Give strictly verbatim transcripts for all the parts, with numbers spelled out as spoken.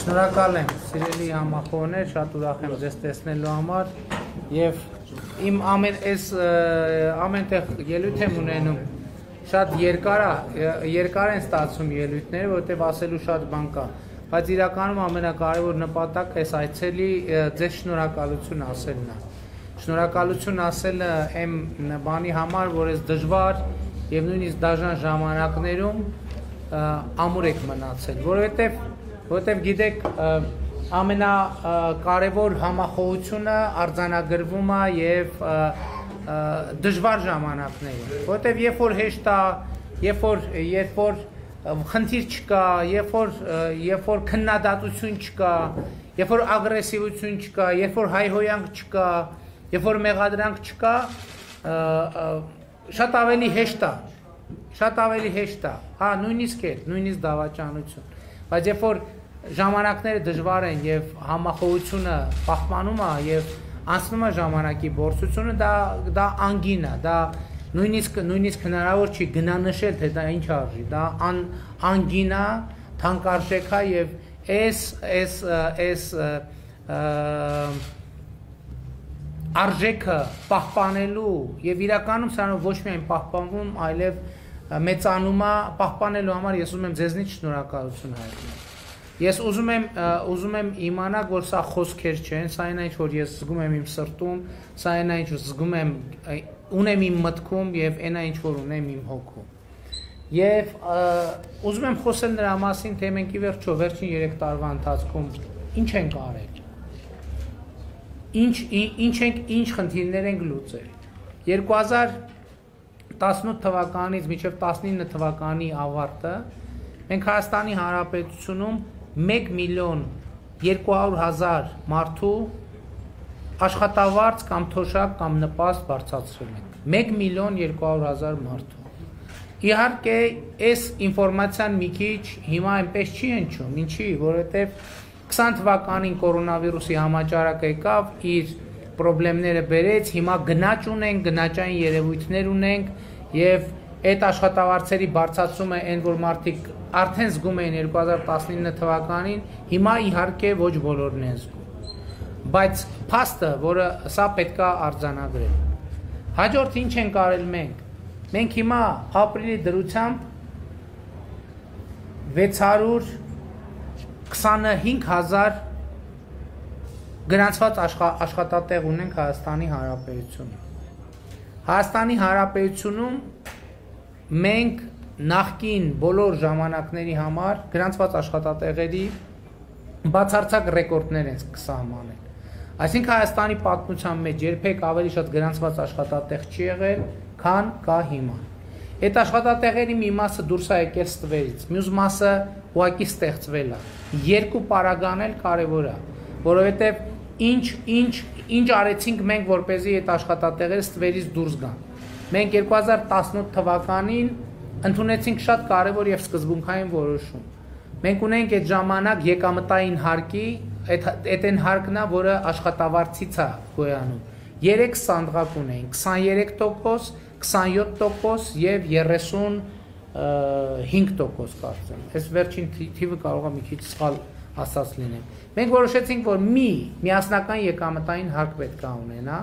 Շնորհակալ եմ, սիրելի համախոհներ, շատ ուրախ եմ ձեզ տեսնելու համար եւ իմ ամեն այս ամենտեղ ելույթ եմ ունենում շատ երկար է, երկար են ստացվում ելույթները, որովհետեւ ասելու շատ բան կա, բայց իրականում ամենակարևոր նպատակը այս այցելի ձեզ շնորհակալություն ասելն է։ Շնորհակալություն ասելը եմ բանի համար, որ այս դժվար եւ նույնիսկ դաժան ժամանակներում ամուր եք մնացել, որովհետեւ որովհետև գիտեք ամենակարևոր համախոհությունը արձանագրվում է եւ դժվար ժամանակներում, որովհետև երբ որ հեշտ է, երբ որ երբ որ խնդիր չկա, երբ որ երբ որ քննադատություն չկա, երբ որ ագրեսիվություն չկա, երբ որ հայհոյանք չկա, երբ որ մեղադրանք չկա, շատ ավելի հեշտ է, շատ ավելի հեշտ է, հա, նույնիսկ է, նույնիսկ դավաճանություն, բայց երբ որ ժամանակները դժվար են եւ համախոհությունը պահպանում է եւ անցնում է ժամանակի փորձությունը, դա դա անգին է, դա նույնիսկ նույնիսկ հնարավոր չի գնանշել, թե դա ինչ արժի, դա ան անգին է, թանկարժեք է եւ այս այս այս արժեքը պահպանելու եւ իրականում սա ոչ միայն պահպանվում, այլև մեծանում է, պահպանելու համար ես ուզում եմ ձեզնից շնորհակալություն հայտնել։ Ես ուզում եմ ուզում եմ իմանալ, որ սա խոսքեր չեն, սա այն ինչ որ ես զգում եմ իմ սրտում, սա այն ինչ որ զգում եմ ունեմ իմ մտքում եւ այն ինչ որ ունեմ իմ հոգում։ Եվ ուզում եմ խոսել նրա մասին, թե մենք ի վերջո վերջին երեք տարվա ընթացքում ինչ ենք արել։ Ինչ ինչ ենք ինչ խնդիրներ ենք լուծել։ երկու հազար տասնութ թվականից մինչև տասնինը թվականի ավարտը մենք Հայաստանի Հանրապետությունում մեկ միլիոն երկու հարյուր հազար մարդու աշխատավարձ կամ թոշակ կամ նպաստ բարձրացրել ենք։ մեկ միլիոն երկու հարյուր հազար մարդու։ Իհարկե, այս ինֆորմացիան մի քիչ հիմա այնպես չի հնչում, ինչի, որովհետև քսան թվականին կորոնավիրուսի համաճարակը եկավ, իր խնդիրները բերեց, հիմա գնաճ ունենք, գնաճային երևույթներ ունենք եւ այդ աշխատավարձերի բարձրացումը այն որ մարդիկ արդեն զգում էին երկու հազար տասնինը թվականին, հիմա իհարկե ոչ բոլորն են զգում։ Բայց փաստը, որը սա պետք է արձանագրել։ Հաջորդ ինչ ենք արել մենք։ Մենք հիմա ապրիլի դրությամբ վեց հարյուր քսանհինգ հազար գրանցված աշխատատեղ ունենք Հայաստանի Հանրապետությունում։ Հայաստանի Հանրապետությունում մենք նախկին բոլոր ժամանակների համար գրանցված աշխատատեղերի բացարձակ ռեկորդներ են կսահմանել։ Այսինքն Հայաստանի պատմության մեջ երբեք ավելի շատ գրանցված աշխատատեղ չի եղել, քան կա հիմա։ Այդ աշխատատեղերի մի մասը դուրս է եկել ստվերից, մյուս մասը ուղղակի ստեղծվել է։ Երկու պարագան էլ կարևոր է, որովհետև ինչ ինչ ինչ արեցինք մենք, որպեսզի այդ աշխատատեղերը ստվերից դուրս գան։ Մենք երկու հազար տասնութ թվականին ընդունեցինք շատ կարևոր եւ սկզբունքային որոշում։ Մենք ունենք այդ ժամանակ եկամտային հարկի, այդ այդ այն հարկն է, որը աշխատավարձից է գոյանում։ երեք սանդղակ ունենք, քսաներեք տոկոս, քսանյոթ տոկոս եւ երեսունհինգ տոկոս կարծեմ։ Այս վերջին թիվը կարող է մի քիչ սխալ ասած լինեմ։ Մենք որոշեցինք, որ մի միասնական եկամտային հարկ պետք է ունենա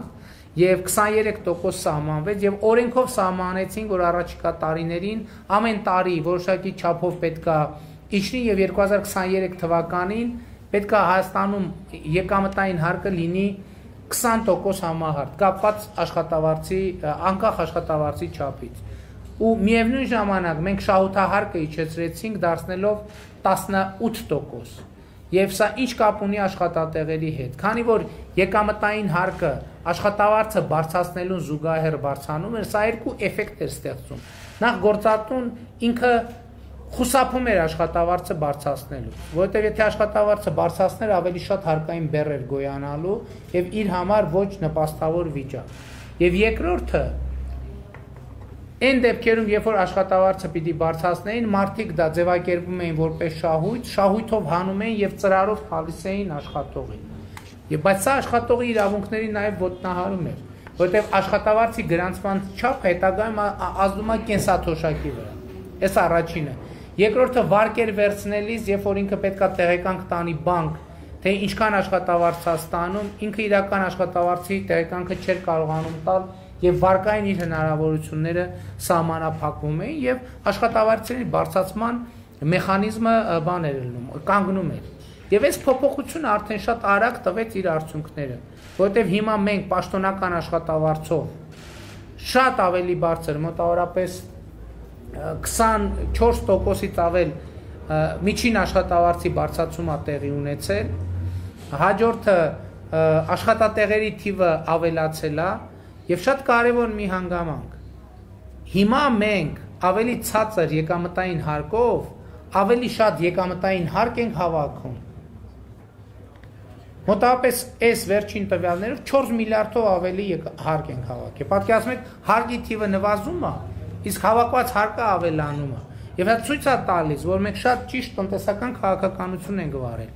եւ քսաներեք տոկոս սահմանվեց եւ օրենքով սահմանեցին, որ առաջիկա տարիներին ամեն տարի որոշակի չափով պետք է իջնի եւ երկու հազար քսաներեք թվականին պետք է Հայաստանում եկամտային հարկը լինի քսան տոկոս համահարկ, կապված աշխատավարձի, անկախ աշխատավարձի չափից։ Ու միևնույն ժամանակ մենք շահութահարկը իջեցրեցինք դարձնելով տասնութ տոկոս։ Եվ սա ինչ կապ ունի աշխատատեղերի հետ, քանի որ եկամտային հարկը աշխատավարձը բարձրացնելուն զուգահեռ բարձրանում էր, սա երկու էֆեկտ էր ստեղծում։ Նախ գործատուն ինքը խուսափում էր աշխատավարձը բարձրացնելու, որովհետև եթե աշխատավարձը բարձրացներ, ավելի շատ հարկային բեռ էր գոյանալու եւ իր համար ոչ նպաստավոր վիճակ։ Եվ երկրորդը Այն դեպքերում, երբ որ աշխատավարձը պիտի բարձրացնեին, մարդիկ դա ձևակերպում էին որպես շահույթ, շահույթով հանում էին եւ ծրարով տալիս էին աշխատողին։ Եվ բայց սա աշխատողի իրավունքների նաեւ ոտնահարում էր, որովհետեւ աշխատավարձի գրանցման չափը հետագայում ազդում է կենսաթոշակի վրա։ Այս առաջինը։ Երկրորդը վարկեր վերցնելիս, երբ որ ինքը պետքա տեղեկանք տանի բանկ, թե ինչքան աշխատավարձ է ստանում, ինքը իրական աշխատավարձի տեղեկանքը չէր կարողանում տալ եւ վարկային իր հնարավորությունները սահմանափակվում էին եւ աշխատավարձերի բարձրացման մեխանիզմը բան էր լինում, կանգնում էր։ Եվ այս փոփոխությունը արդեն շատ արագ տվեց իր արդյունքները, որովհետեւ հիմա մենք պաշտոնական աշխատավարձով շատ ավելի բարձր, մոտավորապես քսանչորս տոկոսից ավել միջին աշխատավարձի բարձրացում է տեղի ունեցել, հաջորդը աշխատատեղերի թիվը ավելացել է եւ շատ կարեւոր մի հանգամանք։ Հիմա մենք ավելի ցածր եկամտային հարկով ավելի շատ եկամտային հարկ ենք հավաքում։ Մոտավորապես այս վերջին տվյալներով չորս միլիարդով ավելի հարկ ենք հավաքել։ Պատկերացնում եք, հարկի թիվը նվազում է, իսկ հավաքված հարկը ավելանում է։ Եվ դա ցույց է տալիս, որ մենք շատ ճիշտ տնտեսական քաղաքականություն ենք վարել։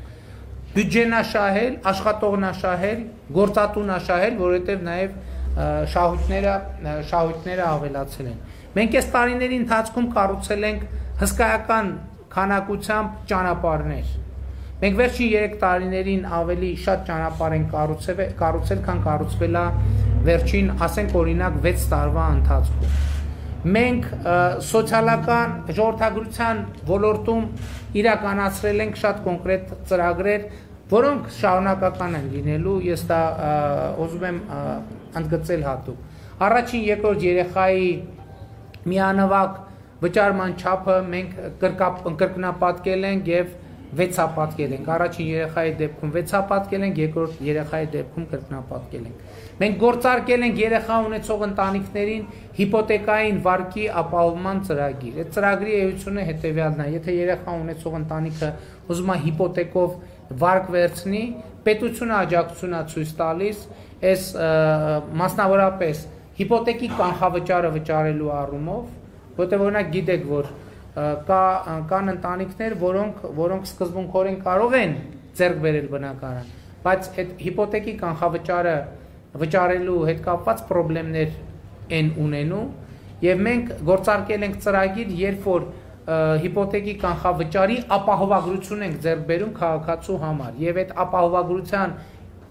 Բյուջեն աշահել, աշխատողն աշահել, գործատուն աշահել, որովհետեւ նաեւ շահույթները շահույթները ավելացել են։ Մենք այս տարիների ընթացքում կառուցել ենք հսկայական քանակությամբ ճանապարհներ։ Մենք վերջին երեք տարիներին ավելի շատ ճանապարհ ենք կառուցել, կառուցել, քան կառուցվել է վերջին, ասենք օրինակ վեց տարվա ընթացքում։ Մենք սոցիալական ժողովրդագրության ոլորտում իրականացրել ենք շատ կոնկրետ ծրագրեր, որոնք շարունակական են լինելու, ես դա ուզում եմ ընդգծել հատուկ։ Առաջին երկրորդ երեխայի միանվագ վճարման չափը մենք կրկնապատկել ենք եւ վեցապատկել ենք։ Առաջին երեխայի դեպքում վեցապատկել ենք, երկրորդ երեխայի դեպքում կրկնապատկել ենք։ Մենք գործարկել ենք երեխա ունեցող ընտանիքներին հիպոթեկային վարկի ապահովման ծրագիր։ Այդ ծրագրի էությունը հետեւյալն է. եթե երեխա ունեցող ընտանիքը ուզում է հիպոթեկով վարկ վերցնի, պետությունը աջակցություն է ցույց տալիս այս մասնավորապես հիպոթեկի կանխավճարը վճարելու առումով, որտեղ օրինակ գիտեք, որ կա կան ընտանիքներ, որոնք որոնք սկզբունքորեն կարող են ձեռք բերել բնակարան, բայց այդ հիպոթեկի կանխավճարը վճարելու հետ կապված խնդիրներ են ունենում, եւ մենք գործարկել ենք ծրագիր, երբ որ հիպոթեկի կանխավճարի ապահովագրություն ենք ձեռք բերում քաղաքացու համար, եւ այդ ապահովագրության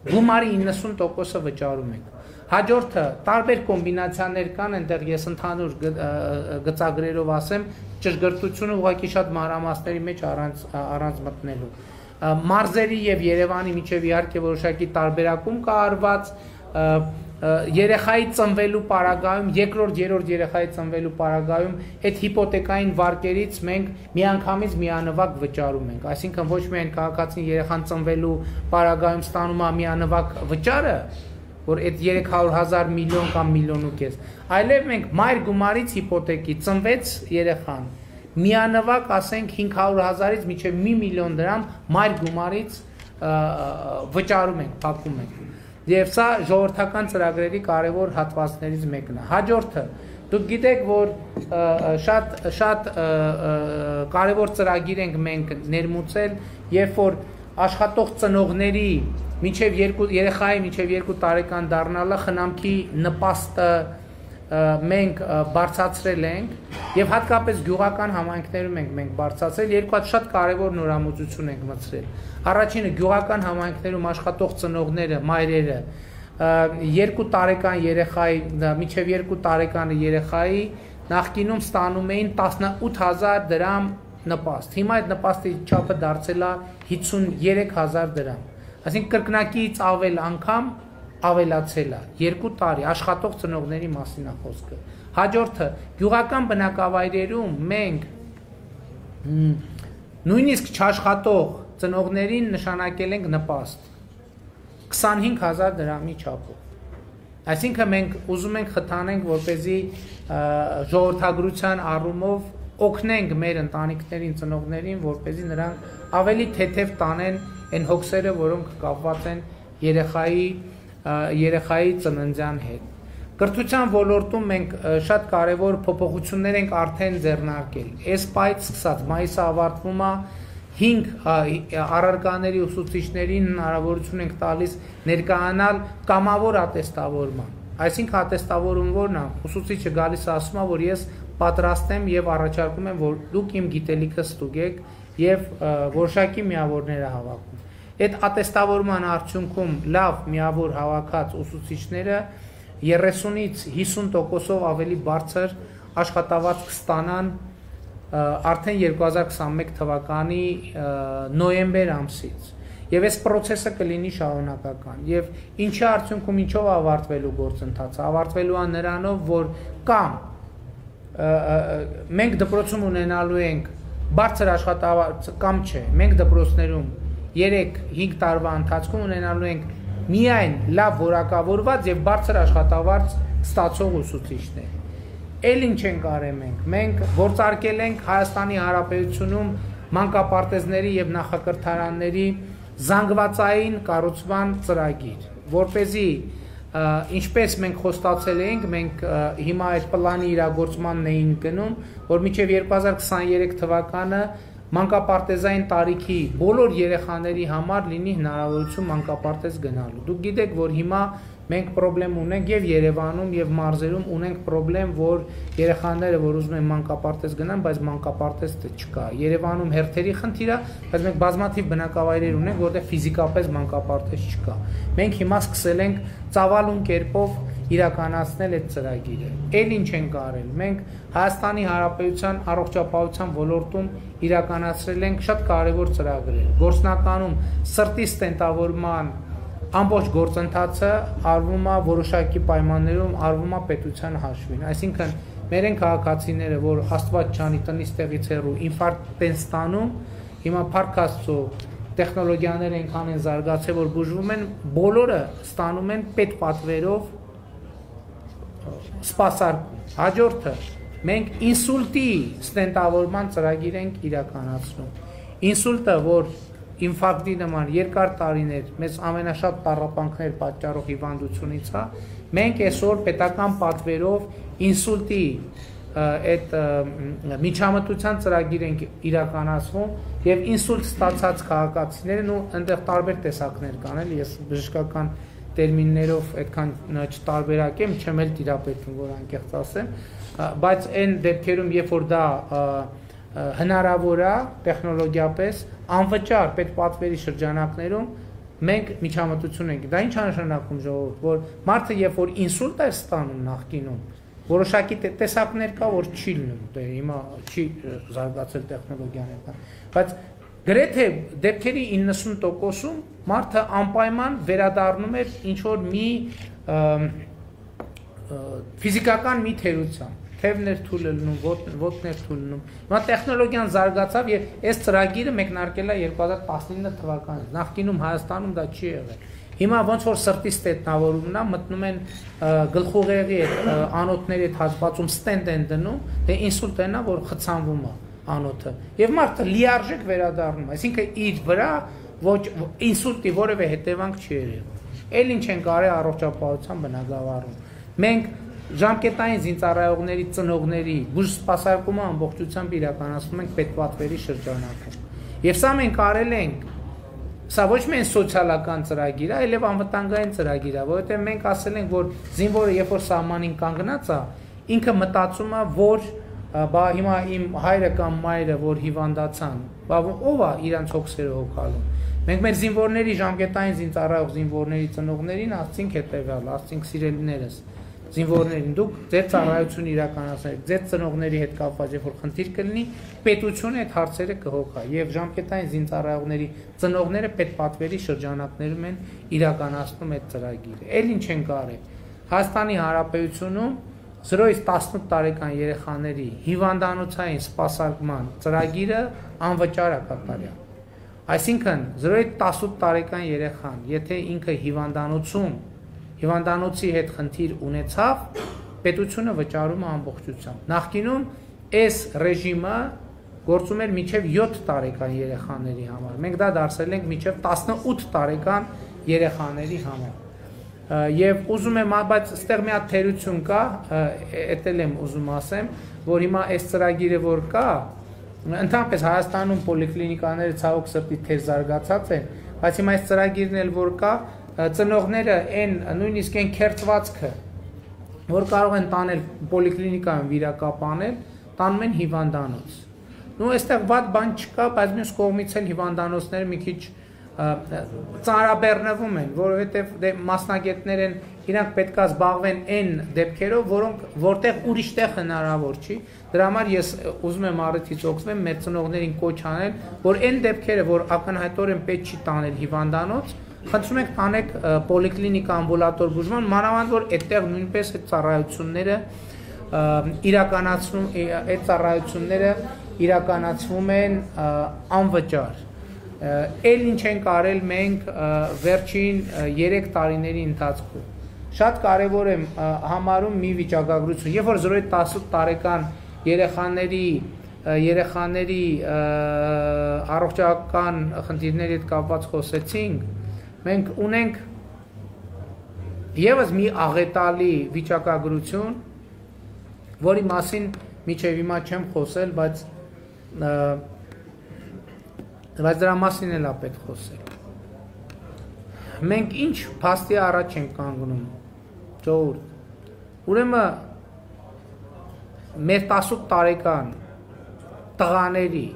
գումարի իննսուն տոկոսը վճարում ենք։ Հաջորդը տարբեր կոմբինացիաներ կան, այնտեղ ես ընդհանուր գծագրերով ասեմ, ճշգրտությունը ուղղակի շատ մանրամասների մեջ առանց առանց մտնելու։ Մարզերի եւ Երևանի միջև իհարկե որոշակի տարբերակում կա արված, երեխայի ծնվելու պարագայում, երկրորդ, երրորդ երեխայի ծնվելու պարագայում այդ հիպոթեկային վարկերից մենք միանգամից միանվագ վճարում ենք, այսինքն ոչ միայն քաղաքացին երեխան ծնվելու պարագայում ստանում է միանվագ վճարը, որ այդ երեք հարյուր հազար միլիոն կամ միլիոն ու կես, այլև մենք մայր գումարից հիպոթեկի ծնվեց երեխան, միանվագ ասենք հինգ հարյուր հազարից մինչև մի միլիոն դրամ մայր գումարից վճարում ենք, փակում ենք։ Եվ սա ժողովրդական ծրագրերի կարևոր հատվածներից մեկն է։ Հաջորդը, դուք գիտեք, որ շատ շատ կարևոր ծրագիր ենք մենք ներմուծել, երբ որ աշխատող ծնողների մինչև երկու երեխայի մինչև երկու տարեկան դառնալը խնամքի նպաստը մենք բարձրացրել ենք եւ հատկապես գյուղական համայնքներում ենք մենք բարձրացրել երկու հատ շատ կարեւոր նորամուծություն ենք մտցրել։ Առաջինը գյուղական համայնքներում աշխատող ծնողները, մայրերը երկու տարեկան երեխայի, մինչև երկու տարեկան երեխայի նախկինում ստանում էին տասնութ հազար դրամ նպաստ։ Հիմա այդ նպաստի չափը դարձել է հիսուններեք հազար դրամ։ Այսինքն կրկնակից ավել անգամ ավելացել է երկու տարի աշխատող ծնողների մասին է խոսքը։ Հաջորդը գյուղական բնակավայրերում մենք նույնիսկ չաշխատող ծնողներին նշանակել ենք նպաստ քսանհինգ հազար դրամի չափով։ Այսինքն մենք ուզում ենք խթանենք, որպեսզի ժողովրդագրության առումով օգնենք մեր ընտանիքներին, ծնողներին, որպեսզի նրանք ավելի թեթև տանեն այն հոգսերը, որոնք կապված են երեխայի երեխայի ծննդյան հետ։ Կրթության ոլորտում մենք շատ կարևոր փոփոխություններ ենք արդեն ձեռնարկել։ Այս պայից սկսած մայիսը ավարտվում է հինգ առարկաների ուսուցիչներին հնարավորություն ենք տալիս ներկայանալ կամավոր ատեստավորման։ Այսինքն ատեստավորում որն է, ուսուցիչը գալիս է ասում է, որ ես պատրաստ եմ եւ առաջարկում եմ, որ դուք իմ գիտելիքը ստուգեք եւ որոշակի միավորները հավաքում։ Այդ ատեստավորման արդյունքում լավ միավոր հավաքած ուսուցիչները երեսունից հիսուն տոկոսով ավելի բարձր աշխատավարձ կստանան արդեն երկու հազար քսանմեկ թվականի նոյեմբեր ամսից։ Եվ այս process-ը կլինի շարունակական։ Եւ ինչի արդյունքում ինչով ավարտվելու գործընթացը, ավարտվելու է նրանով, որ կամ մենք դպրոցում ունենալու ենք բարձր աշխատավարձ կամ չէ, մենք դպրոցներում երեք-հինգ տարվա ընթացքում ունենալու ենք միայն լավ որակավորված եւ բարձր աշխատավարձ ստացող ուսուցիչներ։ Էլ ինչ ենք արել մենք։ Մենք գործարկել ենք Հայաստանի Հանրապետությունում մանկապարտեզների եւ նախակրթարանների զանգվածային կառուցման ծրագիր, որպեսզի ինչպես մենք խոստացել էինք, մենք հիմա այդ պլանի իրագործմանն էին գնում, որ մինչև երկու հազար քսաներեք թվականը մանկապարտեզային տարիքի բոլոր երեխաների համար լինի հնարավորություն մանկապարտեզ գնալու։ Դուք գիտեք, որ հիմա մենք խնդրեմ ունենք եւ Երևանում եւ մարզերում ունենք խնդրեմ, որ երեխաները, որ ուզում են մանկապարտեզ գնան, բայց մանկապարտեզ չկա։ Երևանում հերթերի խնդիր է, բայց մենք բազմաթիվ բնակավայրեր ունենք, որտեղ ֆիզիկապես մանկապարտեզ չկա։ Մենք հիմա սկսել ենք ծավալուն կերպով իրականացնել այդ ծրագիրը։ Էլ ինչ ենք արել։ Մենք Հայաստանի Հանրապետության առողջապահության ոլորտում իրականացրել ենք շատ կարևոր ծրագրեր։ Գործնականում սրտի ստենտավորման ամբողջ գործընթացը արվում է որոշակի պայմաններում, արվում է պետության հաշվին։ Այսինքն մեր են քաղաքացիները, որ Աստված ջանի տնից տեղից հեռու ինֆարկտ են ստանում, հիմա Փառք Աստծո տեխնոլոգիաները այնքան են զարգացել, որ բուժվում են, բոլորը ստանում են պետպատվերով սպասարկում։ Հաջորդը մենք ինսուլտի ստենտավորման ծրագիր ենք իրականացնում։ Ինսուլտը, որ ինֆարկտի նման երկար տարիներ մեզ ամենաշատ տառապանքներ պատճառող հիվանդությունից է, մենք այսօր պետական պատվերով ինսուլտի այդ միջամտության ծրագիր ենք իրականացվում եւ ինսուլտ ստացած քաղաքացիներն ու այնտեղ տարբեր տեսակներ կան, էլի ես բժշկական տերմիններով այդքան չտարբերակեմ, չեմ էլ տիրապետում, որ անկեղծ ասեմ, բայց այն դեպքերում, երբ որ դա հնարավոր է տեխնոլոգիապես անվճար պետպատվերի շրջանակներում մենք միջամտություն ենք։ Դա ինչ է նշանակում, ժողովուրդ, որ մարդը երբ որ ինսուլտ է ստանում նախկինում, որոշակի տեսակներ կա, որ չի լինում, դե հիմա չի զարգացել տեխնոլոգիաները, բայց գրեթե դեպքերի իննսուն տոկոսում մարդը անպայման վերադառնում էր ինչ որ մի ֆիզիկական մի թերության, թևներ թույլ լինում, ոտներ թույլ լինում։ Հիմա տեխնոլոգիան զարգացավ եւ այս ծրագիրը մեկնարկել է երկու հազար տասնինը թվականին։ Նախկինում Հայաստանում դա չի եղել։ Հիմա ոնց որ սրտի ստետնավորումն է, մտնում են գլխուղեղի այդ անոթների այդ հատվածում ստենտ են դնում, դե ինսուլտն է, որ խցանվում է անոթը։ Եվ մարդը լիարժեք վերադառնում, այսինքն իր վրա ոչ ինսուլտի որևէ հետևանք չի եղել։ Էլ ինչ են կարել առողջապահության բնագավառում։ Մենք ժամկետային զինծառայողների ծնողների բուժ սպասարկումը ամբողջությամբ իրականացնում ենք պետպատվերի շրջանակում։ Եվ սա մենք արել ենք Սա ոչ միայն սոցիալական ծրագիր է, այլև անվտանգային ծրագիր է, որովհետև մենք ասել ենք, որ զինվորը երբ որ սահմանին կանգնած է, ինքը մտածում է, որ բա հիմա իմ հայրը կամ մայրը, որ հիվանդացան, բա ով է իրանց հոգսերը հոգալու։ Մենք մեր զինվորների ժամկետային զինծառայող զինվորների ծնողներին ասցինք հետևյալ, ասցինք սիրելիներս, զինվորներին դուք ձեր ծառայությունը իրականացնեք, ձեր ծնողների հետ կապված երբ որ խնդիր կլինի, պետությունը այդ հարցերը կհոգա եւ ժամկետային զինծառայողների ծնողները պետպատվերի շրջանակներում են իրականացնում այդ ծրագիրը։ Էլ ինչ են կարել։ Հայաստանի Հանրապետությունում զրոյից տասնութ տարեկան երեխաների հիվանդանոցային սպասարկման ծրագիրը անվճար է կատարյալ։ Այսինքն զրոյից տասնութ տարեկան երեխան, եթե ինքը հիվանդանոցում հիվանդանոցի հետ խնդիր ունեցավ, պետությունը վճարում է ամբողջությամբ։ Նախկինում այս ռեժիմը գործում էր մինչև յոթ տարեկան երեխաների համար։ Մենք դա դարձրել ենք մինչև տասնութ տարեկան երեխաների համար։ Եվ ուզում եմ, բայց այստեղ մի հատ թերություն կա, էտել եմ ուզում ասեմ, որ հիմա այս ծրագիրը որ կա, ընդհանրապես Հայաստանում պոլիկլինիկաները ցավոք սրտի թեր զարգացած են, բայց հիմա այս ծրագիրն էլ որ կա, ծնողները այն նույնիսկ այն քերծվածքը, որ կարող են տանել պոլիկլինիկայում վիրակապանել, տանում են հիվանդանոց։ Նու այստեղ վատ բան չկա, բայց մյուս կողմից էլ հիվանդանոցները մի քիչ ծանրաբեռնվում են, որովհետև դե մասնագետներ են, իրանք պետք է զբաղվեն այն դեպքերով, որոնք որտեղ ուրիշ տեղ հնարավոր չի։ Դրա համար ես ուզում եմ առիթից օգտվեմ մեր ծնողներին կոչ անել, որ այն դեպքերը, որ ակնհայտորեն պետք չի տանել հիվանդանոց, խնդրում ենք տանեք պոլիկլինիկա ամբուլատոր բուժման, մանավանդ որ այդտեղ նույնպես այդ ծառայությունները իրականացվում, այդ ծառայությունները իրականացվում են անվճար։ Էլ ինչ ենք արել մենք վերջին երեք տարիների ընթացքում։ Շատ կարևոր եմ համարում մի վիճակագրություն, երբ որ զրոյի տասնութ տարեկան երեխաների երեխաների առողջական խնդիրների հետ կապված խոսեցինք, մենք ունենք եւս մի աղետալի վիճակագրություն, որի մասին մինչև հիմա չեմ խոսել, բայց բայց դրա մասին էլ է պետք խոսել։ Մենք ինչ փաստի առաջ ենք կանգնում, ժողովուրդ։ Ուրեմն մեր տասնութ տարեկան տղաների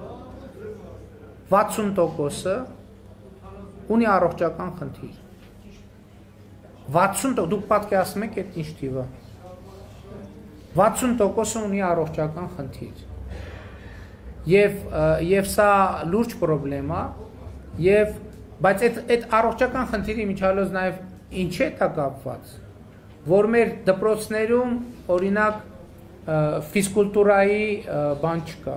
վաթսուն տոկոսը ունի առողջական խնդիր։ վաթսուն տոկոս, դուք պատկերացնում եք այդ ինչ թիվը։ վաթսուն տոկոսը ունի առողջական խնդիր։ Եվ եւ սա լուրջ խնդրեմ է, եւ բայց այդ այդ առողջական խնդիրի միջալոց նաեւ ինչ է դա կապված, որ մեր դպրոցներում օրինակ ֆիզկուլտուրայի բան չկա,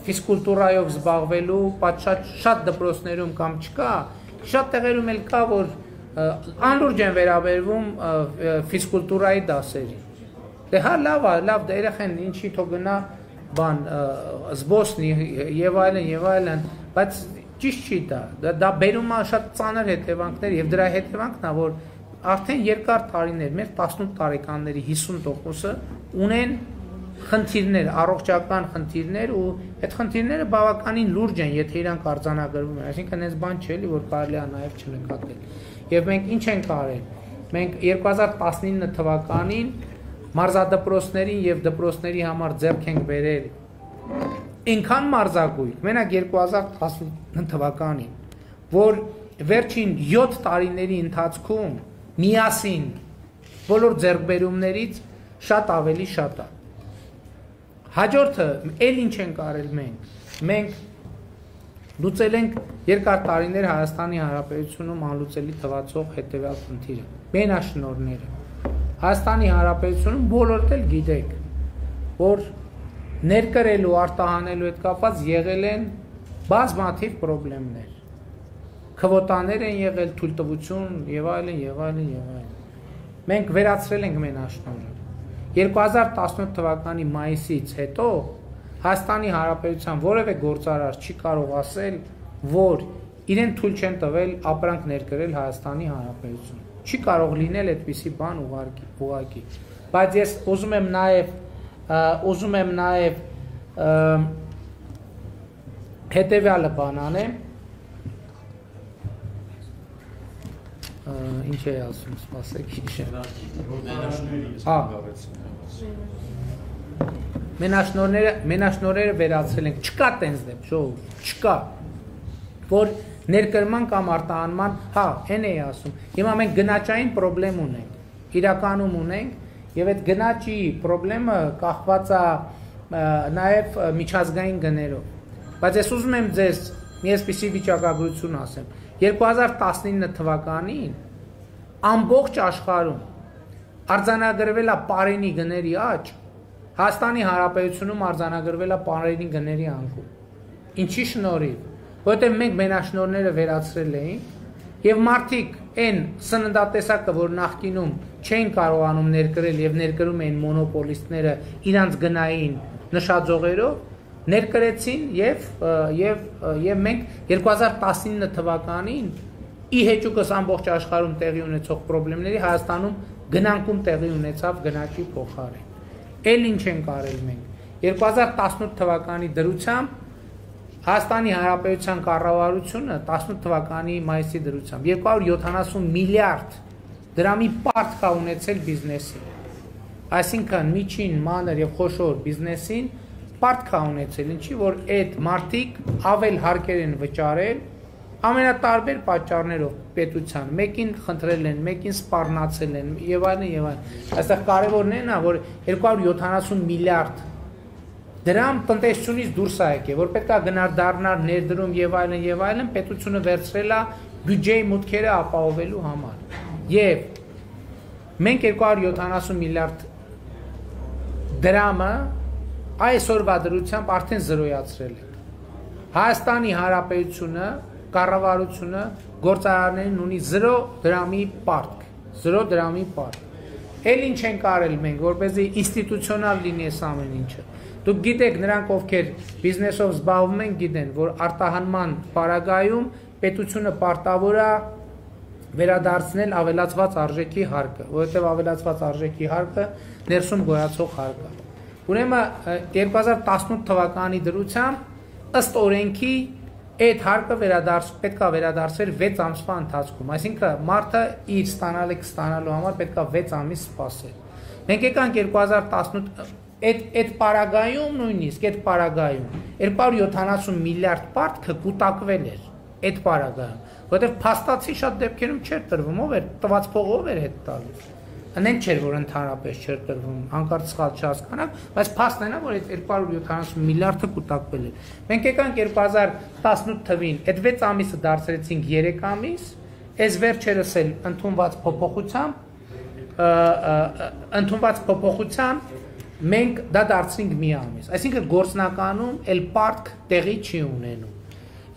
ֆիզկուլտուրայով զբաղվելու շատ շատ դպրոցներում կամ չկա, շատ տեղերում էլ կա, որ անլուրջ են վերաբերվում ֆիզկուլտուրայի դասերին։ Դե հա լավ է, լավ դա երեխան ինչի թող գնա բան զբոսնի եւ այլն եւ այլն, բայց ճիշտ չի դա, դա բերում է շատ ծանր հետևանքներ եւ դրա հետևանքն է, որ արդեն երկար տարիներ մեր տասնութ տարեկանների հիսուն տոկոսը ունեն խնդիրներ, առողջական խնդիրներ ու այդ խնդիրները բավականին լուրջ են, եթե իրանք արձանագրվում են, այսինքն այս բան չէ, որ կարելի է նաեւ չնկատել։ Եվ մենք ինչ ենք արել։ Մենք երկու հազար տասնինը թվականին մարզադպրոցներին եւ դպրոցների համար ձեռք ենք բերել այնքան մարզագույն, մենակ երկու հազար տասնինը թվականին, որ վերջին յոթ տարիների ընթացքում միասին բոլոր ձեռքբերումներից շատ ավելի շատ է։ Հաջորդը էլ ինչ ենք արել մենք։ Մենք լուծել ենք երկար տարիներ Հայաստանի Հանրապետությունում անլուծելի թվացող հետևյալ խնդիրը՝ մենաշնորհները։ Հայաստանի Հանրապետությունում բոլորդ էլ գիտեք, որ ներկրելու, արտահանելու հետ կապված եղել են բազմաթիվ խնդիրներ։ Քվոտաներ են եղել, թույլտվություն եւ այլն եւ այլն եւ այլն։ Մենք վերացրել ենք մենաշնորհը։ երկու հազար տասնութ թվականի մայիսից հետո Հայաստանի Հանրապետության որևէ գործարար չի կարող ասել, որ իրեն թույլ չեն տվել ապրանք ներկրել Հայաստանի Հանրապետություն։ Չի կարող լինել այդպիսի բան ուղղակի։ Բայց ես ուզում եմ նաև ուզում եմ նաև հետևյալը բան անեմ։ ինչ է ասում, սպասեք հիշեմ։ Հա։ Մենաշնորհները, մենաշնորհները վերացրել ենք, չկա տենց դեպք, ժողովուրդ, չկա, որ ներկրման կամ արտահանման, հա, այն էի ասում, հիմա մենք գնաճային պրոբլեմ ունենք, իրականում ունենք, եւ այդ գնաճի պրոբլեմը կախված է նաեւ միջազգային գներով, բայց ես ուզում եմ ձեզ մի այսպիսի վիճակագրություն ասեմ, երկու հազար տասնինը թվականին ամբողջ աշխարհում արձանագրվել է պարենի գների աճ, Հայաստանի Հանրապետությունում արձանագրվել է պարենի գների անկում, ինչի շնորհիվ, որովհետև մենք մենաշնորհները վերացրել էինք եւ մարդիկ այն սննդատեսակը, որ նախկինում չեն կարողանում ներկրել եւ ներկրում էին մոնոպոլիստները իրանց գնային նշաձողերով, ներկրեցին եւ եւ եւ մենք երկու հազար տասնինը թվականին ի հեճուկս ամբողջ աշխարհում տեղի ունեցող խնդիրների Հայաստանում գնանկում տեղի ունեցավ գնաճի փոխարեն։ Էլ ինչ ենք արել մենք։ երկու հազար տասնութ թվականի դրությամբ Հայաստանի Հանրապետության կառավարությունը տասնութ թվականի մայիսի դրությամբ երկու հարյուր յոթանասուն միլիարդ դրամի պարտք է ունեցել բիզնեսին։ Այսինքն միջին, մանր եւ խոշոր բիզնեսին պարտք է ունեցել, ինչի որ այդ մարդիկ ավել հարկեր են վճարել ամենատարբեր պատճառներով պետության, մեկին խնդրել են, մեկին սպառնացել են եւ այլն եւ այլն։ Այստեղ կարևորն է նա, որ երկու հարյուր յոթանասուն միլիարդ դրամ տնտեսությունից դուրս է եկել, որ պետք է գնար դառնար ներդրում եւ այլն եւ այլն, պետությունը վերցրել է բյուջեի մուտքերը ապահովելու համար։ Եվ մենք երկու հարյուր յոթանասուն միլիարդ դրամը այսօրվա դրությամբ արդեն զրոյացրել ենք։ Հայաստանի Հանրապետությունը կառավարությունը գործարարներին ունի զրո դրամի պարտք, զրո դրամի պարտք։ Էլ ինչ ենք արել մենք, որպեսզի ինստիտուցիոնալ լինի այս ամեն ինչը։ Դուք գիտեք, նրանք ովքեր բիզնեսով զբաղվում են, գիտեն, որ արտահանման պարագայում պետությունը պարտավոր է վերադարձնել ավելացված արժեքի հարկը, որովհետև ավելացված արժեքի հարկը ներսում գոյացող հարկ է։ Ուրեմն երկու հազար տասնութ թվականի դրությամբ ըստ օրենքի այդ հարկը վերադարձ պետք է վերադարձվեր վեց ամսվա ընթացքում, այսինքն մարդը իր ստանալիք ստանալու համար պետք է վեց ամիս սպասել։ Մենք եկանք երկու հազար տասնութ այդ այդ պարագայում նույնիսկ այդ պարագայում երկու հարյուր յոթանասուն միլիարդ պարտքը կուտակվել էր այդ պարագայում, որովհետև փաստացի շատ դեպքերում չէր տրվում, ով էր տված փողով էր հետ տալիս։ Անեն չէր, որ ընդհանրապես չէր տրվում, հանկարծ սխալ չհասկանաք, բայց փաստն է նա, որ այդ երկու հարյուր յոթանասուն միլիարդը կուտակվել է։ Մենք եկանք երկու հազար տասնութ թվին, այդ վեց ամիսը դարձրեցինք երեք ամիս, այս վերջերս էլ ընդունված փոփոխությամբ, ընդունված փոփոխությամբ մենք դա դարձրինք մի ամիս։ Այսինքն գործնականում էլ պարտք տեղի չի ունենում։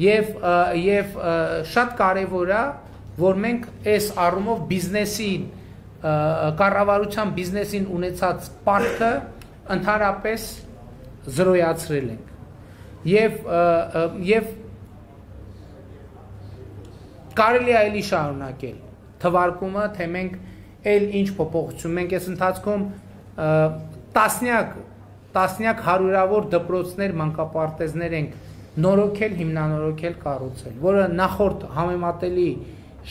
Եվ եւ շատ կարեւոր է, որ մենք այս առումով բիզնեսին կառավարության բիզնեսին ունեցած պարտքը ընդհանրապես զրոյացրել ենք եւ եւ կարելի է ելի շարունակել թվարկումը, թե մենք այլ ինչ փոփոխություն մենք այս ընթացքում տասնյակ տասնյակ հարյուրավոր դպրոցներ, մանկապարտեզներ ենք նորոգել, հիմնանորոգել, կառուցել, որը նախորդ համեմատելի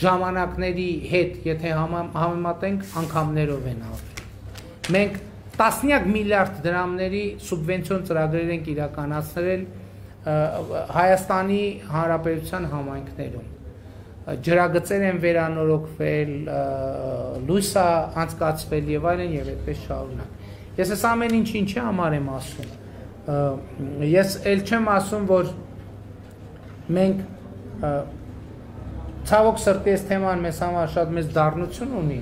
ժամանակների հետ, եթե համեմատենք, անգամներով են արվել։ Մենք տասնյակ միլիարդ դրամների սուբվենցիոն ծրագրեր ենք իրականացրել Հայաստանի Հանրապետության համայնքներում։ Ջրագծեր են վերանորոգվել, լույս է անցկացվել եւ այլն եւ այդպես շարունակ։ Ես այս ամեն ինչ ինչի համար եմ ասում։ Ես էլ չեմ ասում, որ մենք ցավոք սրտի այս թեման մեզ համար շատ մեծ դառնություն ունի,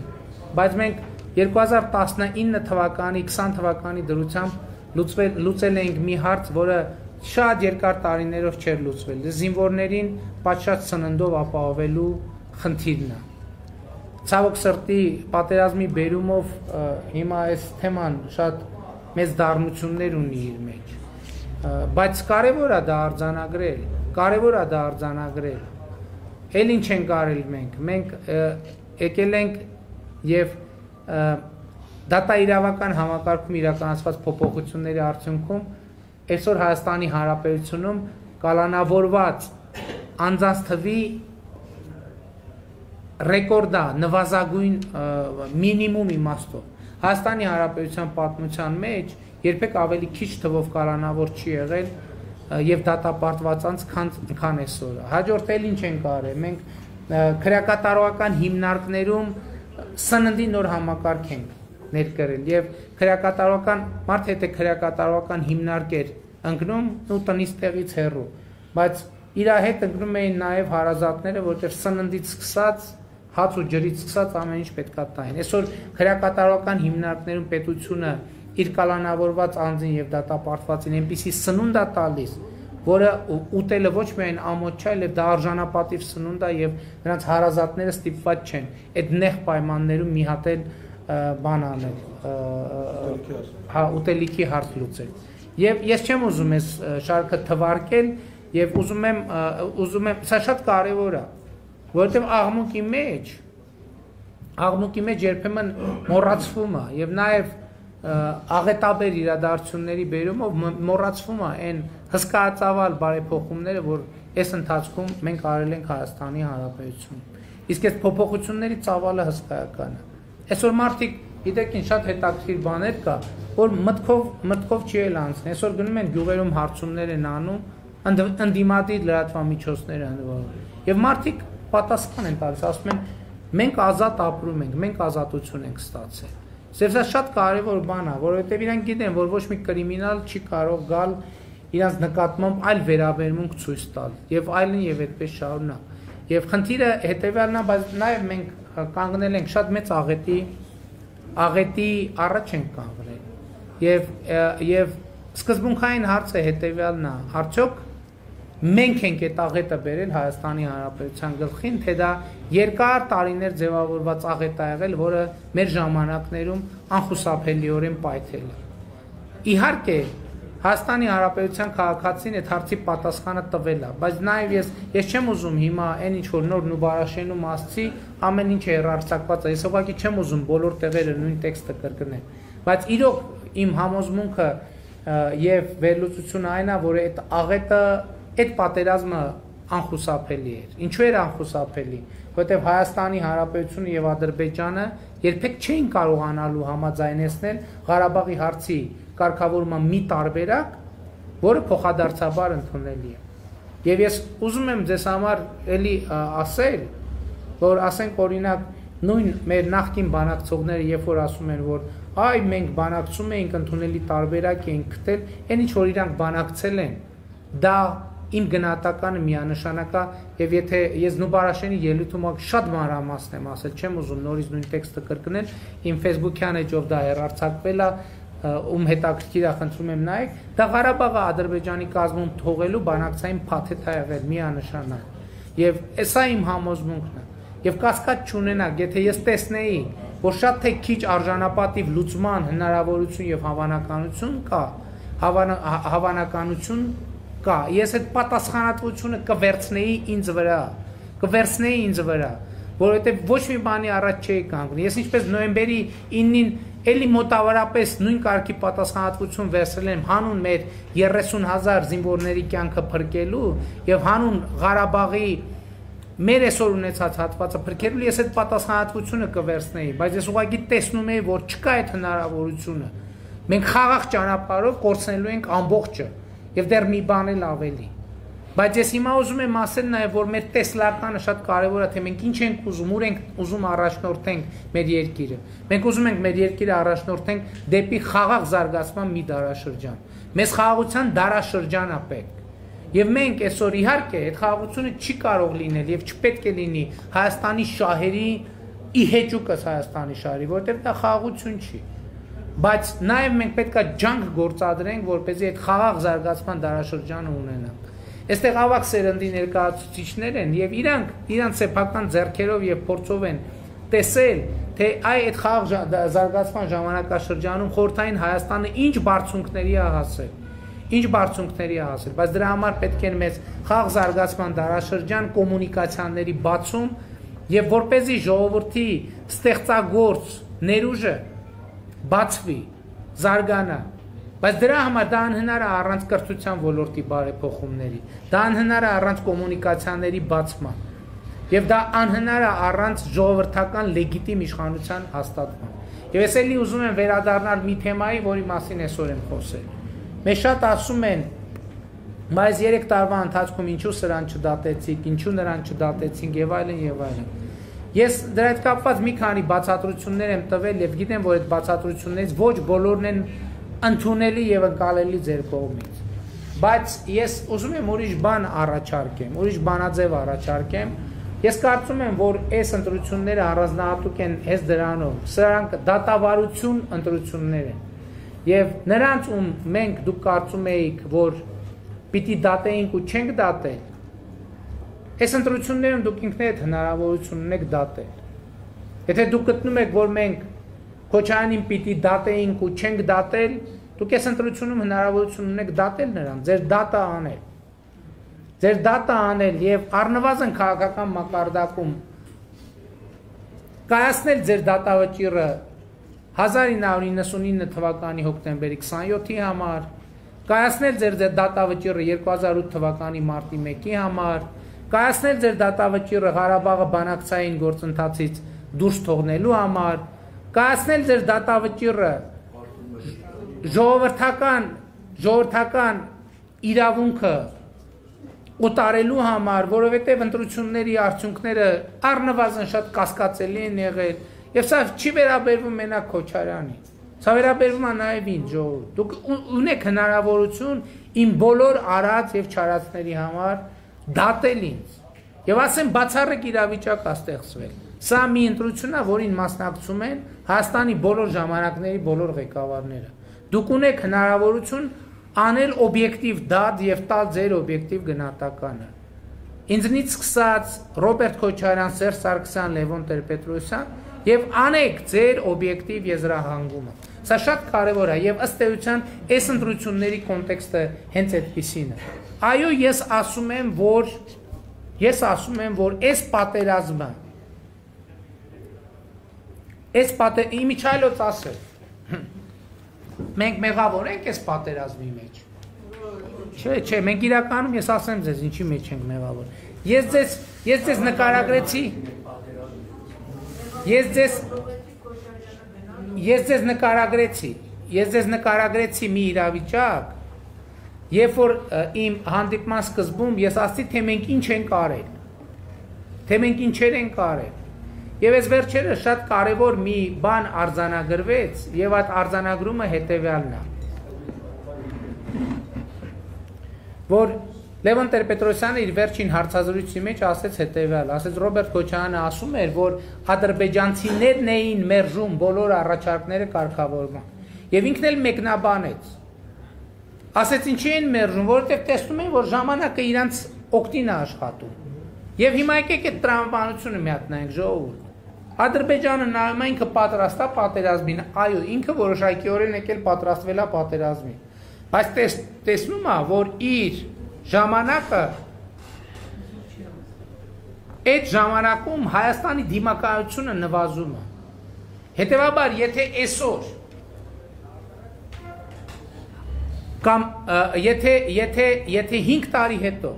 բայց մենք երկու հազար տասնինը թվականի, քսան թվականի դրությամբ լուծվել լուծել էինք մի հարց, որը շատ երկար տարիներով չէր լուծվել։ Զինվորներին պատշաճ սննդով ապահովելու խնդիրն է։ Ցավոք սրտի պատերազմի բերումով հիմա այս թեման շատ մեծ դառնություններ ունի իր մեջ, բայց կարևոր է դա արձանագրել, կարևոր է դա արձանագրել։ Էլ ինչ ենք արել մենք, մենք եկել ենք եւ դատաիրավական համակարգում իրականացված փոփոխությունների արդյունքում այսօր Հայաստանի Հանրապետությունում կալանավորված անձանց թվի ռեկորդա նվազագույն մինիմում իմաստով Հայաստանի Հանրապետության պատմության մեջ երբեք ավելի քիչ թվով կալանավոր չի եղել եւ դատապարտված անց քան այսօր հաջորդ էլ ինչ ենք արել մենք քրեակատարողական հիմնարկներում սննդի նոր համակարգ ենք ներկրել եւ քրեակատարողական մարդ հետ է քրեակատարողական հիմնարկեր ընկնում ու տնից տեղից հեռու բայց իր հետ ընկնում էին նաեւ հարազատները որտեղ սննդից սկսած հաց ու ջրից սկսած ամեն ինչ պետքա տային այսօր քրեակատարողական հիմնարկներում պետությունը իր կալանավորված անձին եւ դատապարտվածին այնպիսի սնունդ է տալիս որը ուտելը ոչ միայն ամոթ չէ այլև դա արժանապատիվ սնունդ է եւ նրանց հարազատները ստիպված չեն այդ նեղ պայմաններում մի հատ էլ բան անել հա ուտելիքի հարց լուծել եւ ես չեմ ուզում այս շարքը թվարկել եւ ուզում եմ ուզում եմ սա շատ կարեւոր է որովհետեւ աղմուկի մեջ աղմուկի մեջ երբեմն մոռացվում է եւ նաեւ աղետաբեր իրադարձությունների բերումով մոռացվում է այն հսկայածավալ բարեփոխումները որ այս ընթացքում մենք արել ենք Հայաստանի Հանրապետությունում իսկ այս փոփոխությունների ծավալը հսկայական է այսօր մարդիկ գիտեք ինչ շատ հետաքրքիր բաներ կա որ մտքով մտքով չի էլ անցնի այսօր գնում են գյուղերում հարցումներ են անում ընդդիմադիր լրատվամիջոցներ ընդվարում եւ մարդիկ պատասխան են տալիս ասում են մենք ազատ ապրում ենք մենք ազատություն ենք ստացել Սա շատ կարևոր բան է, որովհետև իրանք գիտեն, որ ոչ մի կրիմինալ չի կարող գալ իրանց նկատմամբ այլ վերաբերմունք ցույց տալ եւ այլն եւ այդպես շարունակ։ Եվ խնդիրը հետեւյալն է, բայց նաեւ մենք կանգնել ենք շատ մեծ աղետի աղետի առաջ ենք կանգնել։ Եվ եւ սկզբունքային հարցը հետեւյալն է, արդյոք մենք ենք այդ աղետը բերել Հայաստանի Հանրապետության գլխին, թե դա երկար տարիներ ձևավորված աղետ է եղել, որը մեր ժամանակներում անխուսափելիորեն պայթել է։ Իհարկե, Հայաստանի Հանրապետության քաղաքացին այդ հարցի պատասխանը տվել է, բայց նաև ես ես չեմ ուզում հիմա այն ինչ որ նոր Նուբարաշենու մասցի ամեն ինչ հեռարձակված է։ Ես ուղղակի չեմ ուզում բոլոր տեղերը նույն տեքստը կրկնել, բայց իրոք իմ համոզմունքը եւ վերլուծությունը այն է, որ այդ աղետը Այդ պատերազմը անխուսափելի էր։ Ինչու էր անխուսափելի, որովհետև Հայաստանի Հանրապետությունը եւ Ադրբեջանը երբեք չէին կարողանալու համաձայնեցնել Ղարաբաղի հարցի կարգավորման մի տարբերակ, որը փոխադարձաբար ընդունելի է։ Եվ ես ուզում եմ ձեզ համար էլի ասել, որ ասենք օրինակ նույն մեր նախկին բանակցողները երբ որ ասում են, որ այ մենք բանակցում էինք ընդունելի տարբերակ էինք գտել, այն ինչ որ իրանք բանակցել են, դա Իմ գնահատականը միանշանակ է եւ եթե ես Նուբարաշենի ելույթում շատ մանրամասն եմ ասել, չեմ ուզում նորից նույն տեքստը կրկնել, իմ Facebook-յան էջով դա հեռարձակվել է, ում հետաքրքիր է, խնդրում եմ նայեք, դա Ղարաբաղը Ադրբեջանի կազմում թողելու բանակցային փաթեթ է եղել միանշանակ։ Եվ սա իմ համոզմունքն է։ Եվ կասկած չունենաք, եթե ես տեսնեի, որ շատ թե քիչ արժանապատիվ լուծման հնարավորություն եւ հավանականություն կա, հավանականություն կա, ես այդ պատասխանատվությունը կվերցնեի ինձ վրա, կվերցնեի ինձ վրա, որովհետև ոչ մի բանի առաջ չէի կանգնի, ես ինչպես նոյեմբերի իննին էլի մոտավորապես նույն կարգի պատասխանատվություն վերցրել եմ հանուն մեր երեսուն հազար զինվորների կյանքը փրկելու եւ հանուն Ղարաբաղի մեր այսօր ունեցած հատվածը փրկելու, ես այդ պատասխանատվությունը կվերցնեի, բայց ես ուղղակի տեսնում եի, որ չկա այդ հնարավորությունը, մենք խաղաղ ճանապարհով կորցնելու ենք ամբողջը Եվ դեռ մի բան էլ ավելի։ Բայց ես հիմա ուզում եմ ասել նաև, որ մեր տեսլականը շատ կարևոր է, թե մենք ինչ ենք ուզում, ուր ենք ուզում առաջնորդենք մեր երկիրը։ Մենք ուզում ենք մեր երկիրը առաջնորդենք դեպի խաղաղ զարգացման մի դարաշրջան։ Մեզ խաղաղության դարաշրջան է պետք։ Եվ մենք այսօր իհարկե այդ խաղաղությունը չի կարող լինել եւ չպետք է լինի Հայաստանի շահերի ի հեճուկս Հայաստանի շահերի, որովհետեւ դա խաղաղություն չի։ Բայց նաև մենք պետքա ջանք գործադրենք, որպեսզի այդ խաղաղ զարգացման դարաշրջանը ունենանք։ Այստեղ ավակ սերնդի ներկայացուցիչներ են եւ իրանք իրանք սեփական ձեռքերով եւ փորձով են տեսել, թե այ այդ խաղաղ զարգացման ժամանակաշրջանում խորհրդային Հայաստանը ինչ բարձունքների է հասել, ինչ բարձունքների է հասել, բայց դրա համար պետք է մեզ խաղաղ զարգացման դարաշրջան կոմունիկացիաների բացում եւ որպեսզի ժողովրդի ստեղծագործ ներուժը բացվի, զարգանա, բայց դրա համար դա անհնար է առանց կրթության ոլորտի բարեփոխումների, դա անհնար է առանց կոմունիկացիաների բացման, Եվ դա անհնար է առանց ժողովրդական լեգիտիմ իշխանության հաստատման։ Եվ ես էլի ուզում եմ վերադառնալ մի թեմայի, որի մասին այսօր եմ խոսել։ Մեզ շատ ասում են, բայց երեք տարվա ընթացքում ինչու սրան չդատեցիք, ինչու նրան չդատեցինք եւ այլն եւ այլն։ Ես դրա հետ կապված մի քանի բացատրություններ եմ տվել եւ գիտեմ, որ այդ բացատրություններից ոչ բոլորն են ընդունելի եւ ընկալելի ձեր կողմից։ Բայց ես ուզում եմ ուրիշ բան առաջարկեմ, ուրիշ բանաձև առաջարկեմ։ Ես կարծում եմ, որ այս ընտրությունները առանձնահատուկ են հենց դրանով։ Սրանք դատավարություն ընտրություններ են։ Եվ նրանց ում մենք դուք կարծում էիք, որ պիտի դատեինք ու չենք դատել, այս ընտրություններում դուք ինքներդ հնարավորություն ունեք դատել։ Եթե դուք գտնում եք, որ մենք Քոչարյանին պիտի դատեինք ու չենք դատել, դուք այս ընտրությունում հնարավորություն ունեք դատել նրան, ձեր դատը անել։ Ձեր դատը անել եւ առնվազն քաղաքական մակարդակում կայացնել ձեր դատավճիռը հազար ինը հարյուր իննսունինը թվականի հոկտեմբերի քսանյոթի համար, կայացնել ձեր դատավճիռը երկու հազար ութ թվականի մարտի մեկի համար, կայացնել ձեր դատավճիռը Ղարաբաղը բանակցային գործընթացից դուրս թողնելու համար, կայացնել ձեր դատավճիռը ժողովրդական ժողովրդական իրավունքը ուտարելու համար, որովհետև ընտրությունների արդյունքները առնվազն շատ կասկածելի են եղել, եւ սա չի վերաբերվում մենակ Քոչարյանին, սա վերաբերվում է նաեւ ինձ, ժողովուրդ։ Դուք ունեք հնարավորություն իմ բոլոր արած եւ չարածների համար դատել ինձ եւ ասեմ բացառիկ իրավիճակ է ստեղծվել։ Սա մի ընտրություն է, որին մասնակցում են Հայաստանի բոլոր ժամանակների բոլոր ղեկավարները։ Դուք ունեք հնարավորություն անել օբյեկտիվ դատ եւ տալ ձեր օբյեկտիվ գնահատականը։ Ինձնից սկսած Ռոբերտ Քոչարյան, Սերժ Սարգսյան, Լևոն Տեր-Պետրոսյան եւ անեք ձեր օբյեկտիվ եզրահանգումը։ Սա շատ կարեւոր է եւ ըստ էության այս ընտրությունների կոնտեքստը հենց այդպիսին է։ Այո, ես ասում եմ, որ ես ասում եմ, որ այս պատերազմը այս պատեր իմիջայլոց ասել մենք մեղավոր ենք այս պատերազմի մեջ։ Չէ, չէ, մենք իրականում ես ասեմ ձեզ ինչի մեջ ենք մեղավոր։ Ես ձեզ ես ձեզ նկարագրեցի Ես ձեզ ես ձեզ նկարագրեցի Ես ձեզ նկարագրեցի մի իրավիճակ, երբ որ իմ հանդիպման սկզբում ես ասացի, թե մենք ինչ ենք արել, թե մենք ինչեր ենք արել։ Եվ այս վերջերս շատ կարևոր մի բան արձանագրվեց, եւ այդ արձանագրումը հետեւյալն է, որ Լևոն Տեր-Պետրոսյանը իր վերջին հարցազրույցի մեջ ասեց հետեւյալ, ասեց Ռոբերտ Քոչարյանը ասում էր, որ ադրբեջանցիներն էին մերժում բոլոր առաջարկները կարգավորման, եւ ինքն էլ մեկնաբանեց, ասեց ինչի են մերժում, որովհետեւ տեսնում են, որ ժամանակը իրանց օգտին է աշխատում, եւ հիմա եկեք այդ տրամաբանությունը մի հատ նայենք, ժողովուրդ։ Ադրբեջանը նայում է ինքը պատրաստ է պատերազմին, այո, ինքը որոշակիորեն եկել պատրաստվել է պատերազմին, բայց տեսնում է, որ իր ժամանակը այդ ժամանակում Հայաստանի դիմակայությունը նվազում է։ Հետևաբար, եթե այսօր կամ եթե եթե եթե հինգ տարի հետո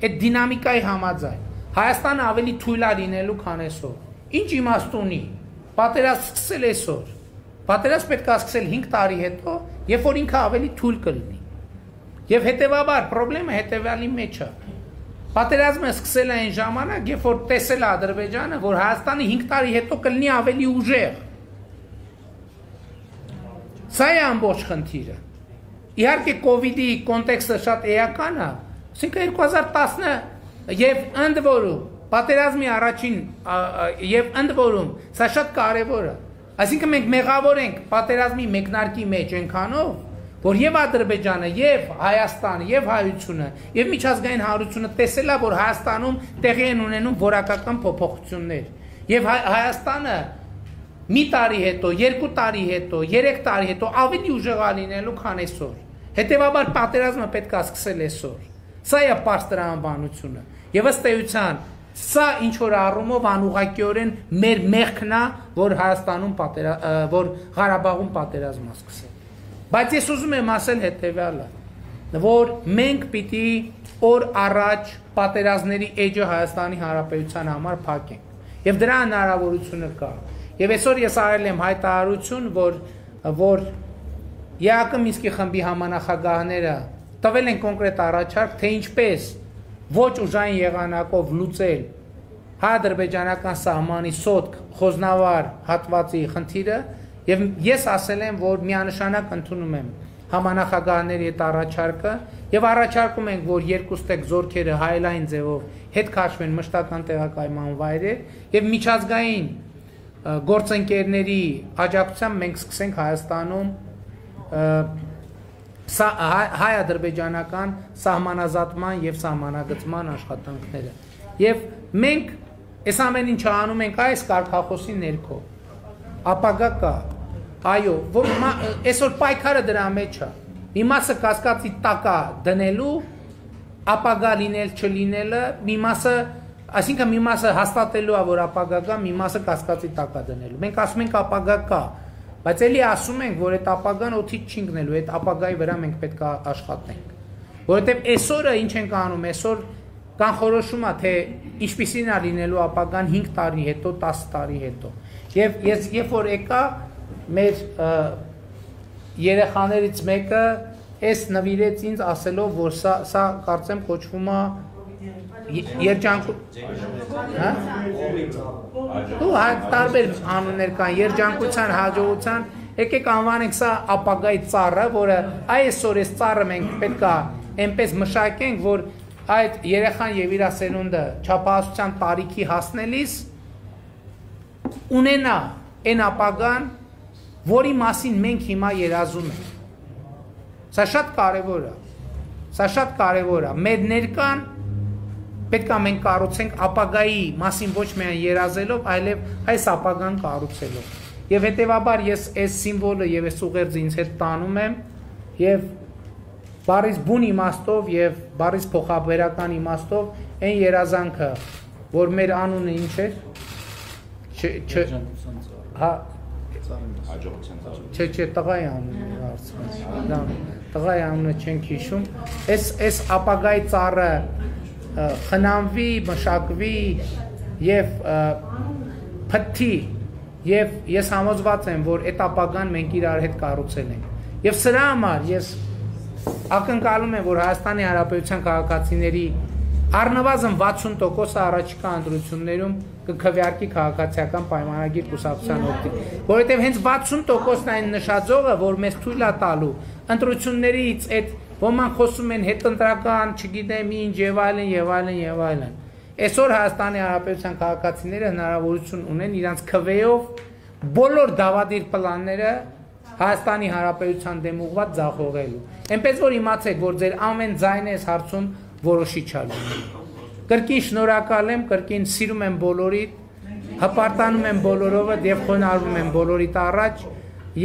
այդ դինամիկայի համաձայն Հայաստանը ավելի թույլ է լինելու, քան այսօր, ինչ իմաստ ունի պատերազմ սկսել այսօր, պատերազմ պետք է սկսել հինգ տարի հետո, երբ որ ինքը ավելի թույլ կլինի։ Եվ հետևաբար խնդրեմը հետևյալի մեջ է։ Պատերազմը սկսել է այն ժամանակ, երբ որ տեսել է Ադրբեջանը, որ Հայաստանը հինգ տարի հետո կլինի ավելի ուժեղ։ Սա է ամբողջ խնդիրը։ Իհարկե կովիդի կոնտեքստը շատ էական է, ասինքն երկու հազար տասը եւ ընդ որում պատերազմի առաջին եւ ընդ որում սա շատ կարեւոր է։ Այսինքն մենք մեղավոր ենք պատերազմի մեկնարկի մեջ այնքանով, որ եւ Ադրբեջանը, եւ Հայաստանը, եւ հայությունը, եւ միջազգային հանրությունը տեսել է, որ Հայաստանում տեղի են ունենում որակական փոփոխություններ, եւ Հայաստանը մի տարի հետո, երկու տարի հետո, երեք տարի հետո ավելի ուժեղ է լինելու, քան այսօր։ Հետևաբար պատերազմը պետք է սկսել այսօր։ Սա է պարզ տրամաբանությունը։ Եվ ըստ էության, սա ինչ որ առումով անուղղակիորեն մեր մեղքն է, որ Հայաստանում պատերազմ, որ Ղարաբաղում պատերազմ է սկսել։ Բայց ես ուզում եմ ասել հետևյալը, որ մենք պիտի օր առաջ պատերազմների էջը Հայաստանի Հանրապետության համար փակենք եւ դրա հնարավորությունը կա եւ այսօր ես արել եմ հայտարարություն որ որ ԵԱԿ Մինսկի խմբի համանախագահները տվել են կոնկրետ առաջարկ թե ինչպես ոչ ուժային եղանակով լուծել հայ-ադրբեջանական սահմանի սոտք խոզնավար հատվածի խնդիրը եւ ես ասել եմ որ միանշանակ ընդունում եմ համանախագահների այդ առաջարկը եւ առաջարկում ենք որ երկուստեք զորքերը հայելային ձևով հետ քաշվեն մշտական տեղակայման վայրեր եւ միջազգային գործընկերների աջակցությամբ մենք սկսենք Հայաստանում հայ-ադրբեջանական սահմանազատման եւ սահմանագծման աշխատանքները եւ մենք այս ամեն ինչը անում ենք այս կարգախոսի ներքո ապագա կա այո որ այսօր պայքարը դրա մեջ է մի մասը կասկածի տակ է դնելու ապագա լինել չլինելը մի մասը այսինքն մի մասը հաստատելու է որ ապագա կա մի մասը կասկածի տակ է դնելու մենք ասում ենք ապագա կա բայց էլի ասում ենք որ այդ ապագան օդից չի ընկնելու այդ ապագայի վրա մենք պետք է աշխատենք որովհետեւ այսօրը ինչ ենք անում այսօր կանխորոշում է թե ինչպիսին է լինելու ապագան հինգ տարի հետո տասը տարի հետո եւ ես երբ որ եկա մեր երեխաներից մեկը այս նվիրեց ինձ ասելով որ սա սա կարծեմ կոչվում է երջանկություն հա ու տարբեր անուններ կան երջանկության հաջողության եկեք անվանենք սա ապագայի ծառը որը այսօր այս ծառը մենք պետք է այնպես մշակենք որ այդ երեխան եւ իր սերունդը չափահասության տարիքի հասնելիս ունենա այն ապագան որի մասին մենք հիմա երազում ենք սա շատ կարևոր է սա շատ կարևոր է մեր ներկան պետք է մենք կառուցենք ապագայի մասին ոչ միայն երազելով այլև այս ապագան կառուցելով եւ հետեւաբար ես այս սիմվոլը եւ այս ուղերձը ինձ հետ տանում եմ եւ բարիս բուն իմաստով եւ բարիս փոխաբերական իմաստով այն երազանքը որ մեր անունը ինչ է չ հա չէ չէ տղայի անունը հարցնում դա տղայի անունը չենք հիշում այս այս ապագայի ծառը խնամվի մշակվի եւ փթի եւ ես համոզված եմ որ այդ ապագան մենք իրար հետ կառուցել ենք եւ սրա համար ես ակնկալում եմ որ Հայաստանի Հանրապետության քաղաքացիների առնվազն վաթսուն տոկոսը առաջիկա ընտրություններում կքվեարկի քաղաքացիական պայմանագիր կուսակցության օգտին որովհետեւ հենց վաթսուն տոկոսն այն նշաձողը որ մեզ թույլ է տալու ընտրություններից այդ ոմանք խոսում են հետընտրական չգիտեմ ինչ եւ այլն եւ այլն եւ այլն այսօր Հայաստանի Հանրապետության քաղաքացիները հնարավորություն ունեն իրանց քվեով բոլոր դավադիր պլանները Հայաստանի Հանրապետության դեմ ուղղված ձախողելու այնպես որ իմացեք որ ձեր ամեն ձայնը այս հարցում որոշիչ է կրկին շնորհակալ եմ կրկին սիրում եմ բոլորիդ հպարտանում եմ բոլորովը եւ խոնարհվում եմ բոլորիդ առաջ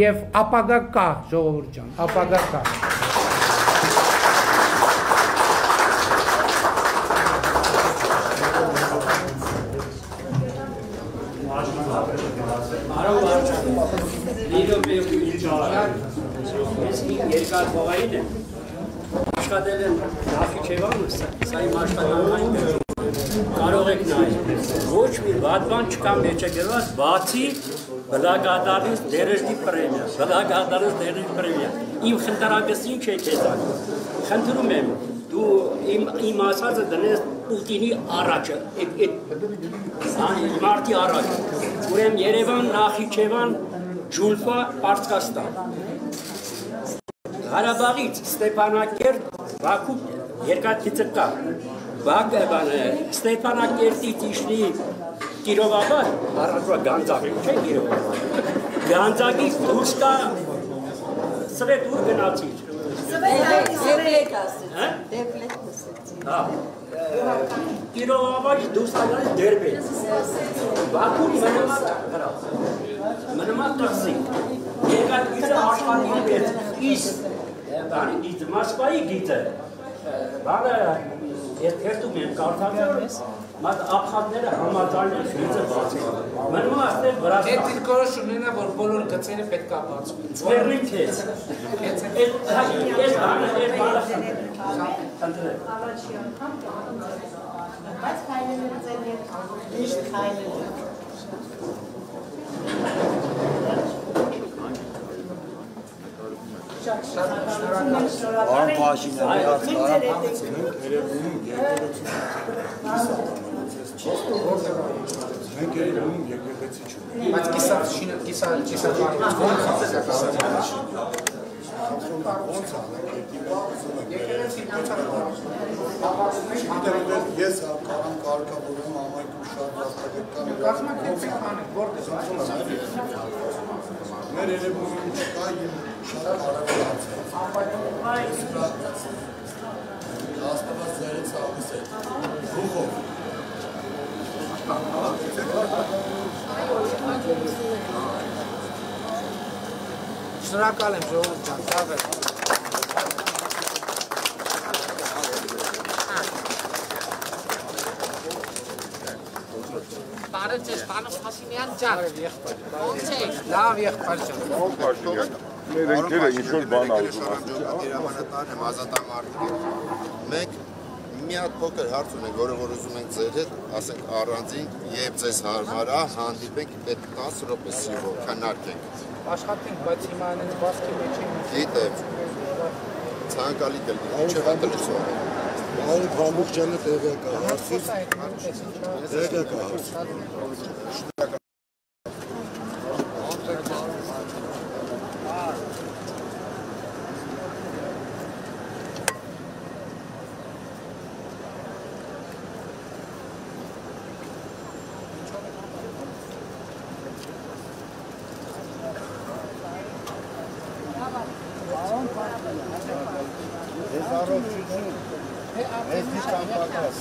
եւ ապագա կա ժողովուրդ ջան ապագա կա երկար բողային է աշխատել եմ Նախիջևանը, սա իմ աշխատանքային կարող եք նայել ոչ մի վատ բան չկա մեջը գրված բացի բլագադարից դերեժդի պրեմիա բլագադարից դերեժդի պրեմիա իմ խնդրակցին չէ քեզան խնդրում եմ դու իմ իմ ասածը դնես Պուտինի առաջը այդ մարտի առաջ ուրեմն Երևան Նախիջևան Ջուլֆա Պարսկաստան Ղարաբաղից Ստեփանակերտ Բաքու երկաթիցը կա Բաքը Ստեփանակերտից իշնի Կիրովաբադ առանց Գանձակ չէ Կիրովաբադ Գանձակից դուրս կա Սվետ ուր գնացիր Սվետ հա հա Կիրովաբադ դուրս գալիս Դերբեջ Բաքու մնամա հրա մնամա տաքսի երկաթիցը աշխատում է Իս բանի դիտ Մոսկվայի գիտը բանը երթում եմ կարդալիս Մատ ապխատները համաձայնվեց գիծը բացի։ Մնում է այստեղ Վրաստան։ Այդ դիրքորոշումն է, որ բոլոր գծերը պետք է բացվեն։ Ձեռնին քեզ։ Քեզ այդ այս բանը այդ բանը ընտրել։ Առաջի անգամ բայց քայլերը ձեր հետ միշտ քայլերը։ Արան պաշինը միած կարապանցնենք երևում եկեղեցի մենք երևում եկեղեցի չունենք Բայց կիսա շինը կիսա կիսա ոնց անենք եկեղեցի ոնց ես կարան կարգավորում ամայքում շատ վաստակական կազմակերպեք անեք որտե՞ղ մեր երևում չկա եւ շատ կարևոր հարց է Աստված ձերից ալիս է ռուխով Շնորհակալ եմ ժողովուրդ ջան, ցավ է։ Բարև ձեզ, պարոն Փաշինյան ջան։ Ո՞նց եք։ Լավ եղբայր ջան։ Մեր ընկերը ինչ-որ բան ուզում ասել։ Հրամանատարն եմ ազատամարտիկին։ Մենք մի հատ փոքր հարց ունենք, որը որ ուզում ենք ձեր հետ, ասենք առանձին, երբ ձեզ հարմար է, հանդիպենք այդ տասը րոպե սիրով քննարկենք։ Աշխատենք, բայց հիմա այնպես բասկի մեջ ենք։ Գիտեմ։ Ցանկալի կլինի, ինչը հատլուսով։ Արի բամբուկջանը տեղյակ է հարցից Խոսա հետ մտես ինչա։ տեղյակ է հարցից Ես առողջություն, ես դիշ կամպակաս։